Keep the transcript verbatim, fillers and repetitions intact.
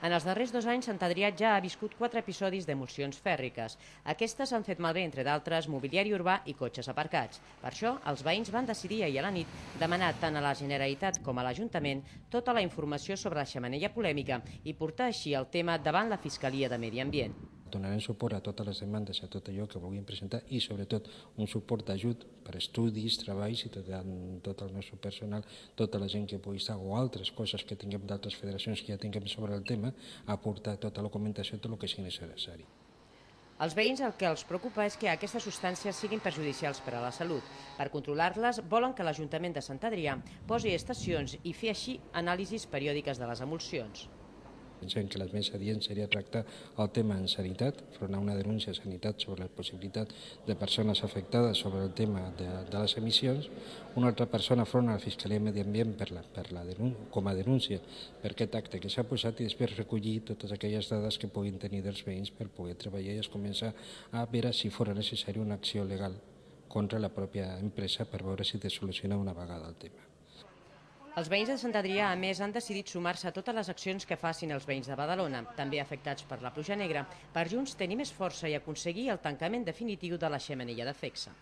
En els darrers dos anys, Sant Adrià ja ha viscut quatre episodis d'emulsions fèrriques. Aquestes han fet malbé, entre d'altres, mobiliari urbà i cotxes aparcats. Per això, els veïns van decidir ahir a la nit demanar tant a la Generalitat com a l'Ajuntament tota la informació sobre la xemeneia polèmica i portar així el tema davant la Fiscalia de Medi Ambient. Donarem suport a totes les demandes, a tot allò que vulguin presentar i sobretot un suport d'ajut per estudis, treballs i tot, tot el nostre personal, tota la gent que pugui estar o altres coses que tinguem d'altres federacions que ja tinguem sobre el tema, aportar tota la documentació, tot el que sigui necessari. Els veïns el que els preocupa és que aquestes substàncies siguin perjudicials per a la salut. Per controlar-les, volen que l'Ajuntament de Sant Adrià posi estacions i fer així anàlisis periòdiques de les emulsions. Pensem que el més adient seria tractar el tema en sanitat, front a una denúncia a sanitat sobre la possibilitat de persones afectades sobre el tema de, de les emissions, una altra persona front a la Fiscalia de Medi Ambient per la, per la denúncia, com a denúncia per aquest acte que s'ha posat i després recollir totes aquelles dades que puguin tenir dels veïns per poder treballar i es començar a veure si fos necessària una acció legal contra la pròpia empresa per veure si te soluciona una vegada el tema. Els veïns de Sant Adrià, a més, han decidit sumar-se a totes les accions que facin els veïns de Badalona, també afectats per la pluja negra, per junts tenir més força i aconseguir el tancament definitiu de la xemeneia de Fexa.